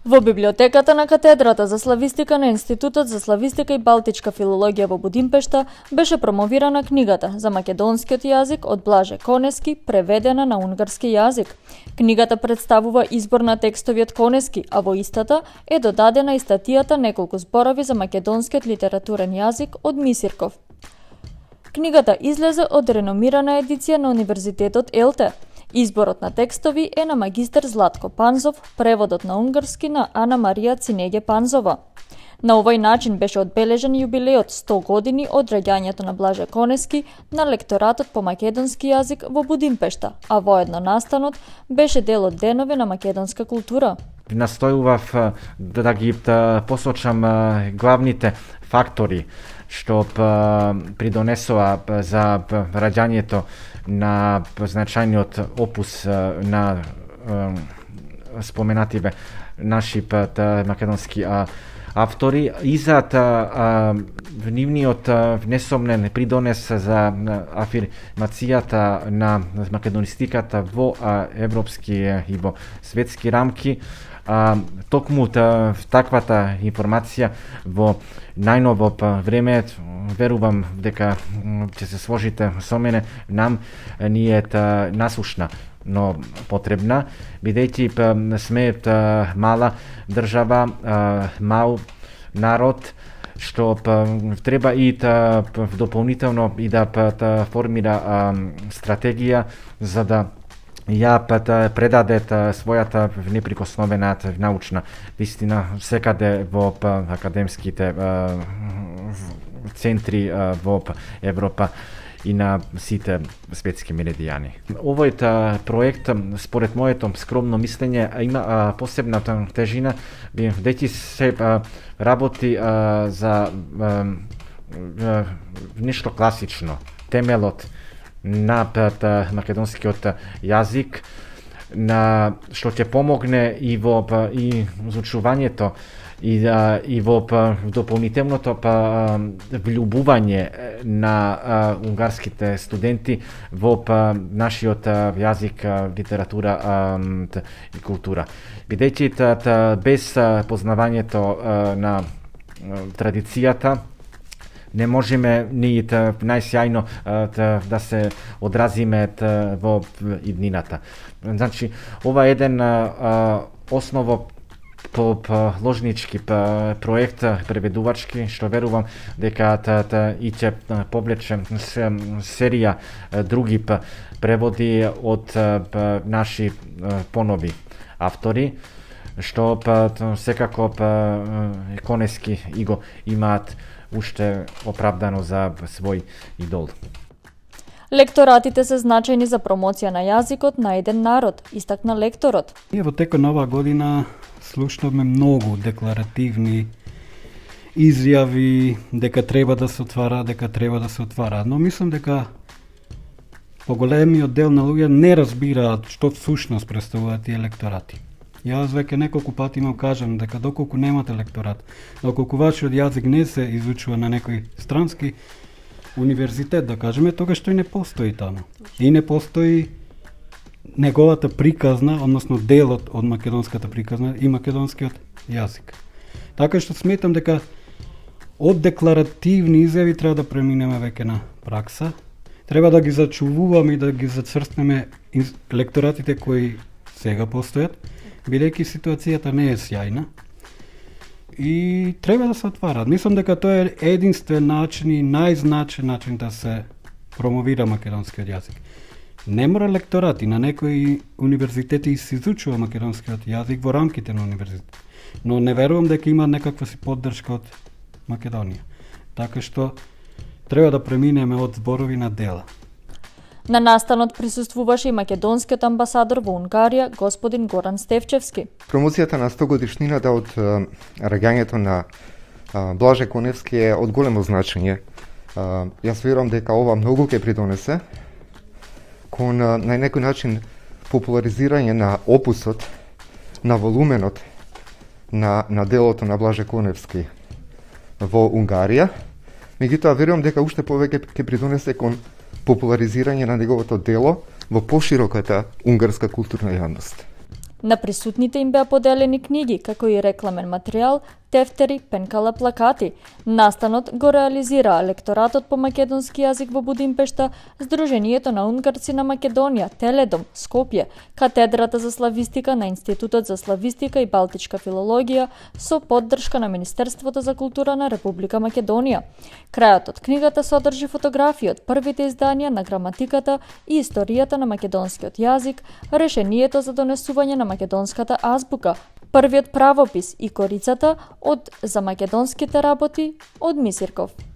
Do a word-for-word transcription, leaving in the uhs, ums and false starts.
Во библиотеката на катедрата за славистика на Институтот за славистика и балтичка филологија во Будимпешта беше промовирана книгата за македонскиот јазик од Блаже Конески, преведена на унгарски јазик. Книгата представува избор на текстови од Конески, а во истата е додадена и статијата неколку зборови за македонскиот литературен јазик од Мисирков. Книгата излезе од реномирана едиција на Универзитетот Елте. Изборот на текстови е на магистер Златко Панзов, преводот на унгарски на Ана Марија Цинеге Панзова. На овој начин беше одбележен јубилеот сто години од раѓањето на Блаже Конески на лекторатот по македонски јазик во Будимпешта, а воедно настанот беше дел од денови на македонска култура. Настојував да ги посочам главните фактори што придонесоа за раѓањето на значајниот опус на споменативе наши македонски автори и за нивниот внесомнен придонес за афирмацијата на македонистиката во европски и во светски рамки. А, токму таквата информација во најново време, верувам дека ќе се сложите со мене, нам ни е насушна, но потребна, бидејќи сме мала држава, мал народ, што треба и дополнително и да формира стратегија за да ја предадет својата неприкосновена научна вистина секаде во академските центри во Европа и на сите светски меридијани. Овој проект, според моето скромно мислење, има посебна тежина, бидејќи се работи за нешто класично, темелот на македонскиот јазик, на што ќе помогне и во и изучувањето и и во дополнителното влюбување на унгарските студенти во нашиот јазик, литература и култура. Бидејќи без познавањето на традицијата не можеме ни најсјајно да се одразиме во иднината. Значи, ова е еден осново положнички проект преведувачки, што верувам дека и ќе повлече серија други преводи од наши понови автори, што секако Конески и го имаат уште оправдано за свој идол. Лекторатите се значајни за промоција на јазикот на еден народ, истакна лекторот. Ние во текот на оваа година слушнавме многу декларативни изјави дека треба да се отвара, дека треба да се отвара, но мислам дека поголемиот дел на луѓе не разбираат што всушност представуваат тие лекторати. Јас веќе неколку пати имам кажам дека доколку немате лекторат, доколку вашиот јазик не се изучува на некој странски универзитет, да кажеме, тогаш тој не постои таму. И не постои неговата приказна, односно делот од македонската приказна и македонскиот јазик. Така што сметам дека од декларативни изјави треба да преминеме веќе на пракса. Треба да ги зачувуваме и да ги зацрстнеме лекторатите кои сега постојат, бидејќи ситуацијата не е сјајна и треба да се отварат. Мислам дека тоа е единствен начин и најзначен начин да се промовира македонскиот јазик. Не мора лекторати, на некои универзитети се изучува македонскиот јазик во рамките на универзитет, но не верувам дека има некаква си поддршка од Македонија. Така што треба да преминеме од зборови на дела. На настанот присуствуваше и македонскиот амбасадор во Унгарија, господин Горан Стефчевски. Промоцијата на сто годишнината од раѓањето на Блаже Коневски е од големо значење. Јас верувам дека ова многу ќе придонесе кон на некој начин популаризирање на опусот, на волуменот на, на делото на Блаже Коневски во Унгарија. Меѓутоа верувам дека уште повеќе ќе придонесе кон популаризирање на неговото дело во пошироката унгарска културна јавност. На присутните им беа поделени книги, како и рекламен материјал, тефтери, пенкала, плакати. Настанот го реализираа лекторатот по македонски јазик во Будимпешта, Сдруженијето на унгарци на Македонија, Теледом, Скопје, Катедрата за славистика на Институтот за славистика и балтичка филологија со поддршка на Министерството за култура на Република Македонија. Крајот од книгата содржи фотографии од првите изданија на граматиката и историјата на македонскиот јазик, решението за донесување на македонската азбука, првиот правопис и корицата од за македонските работи од Мисирков.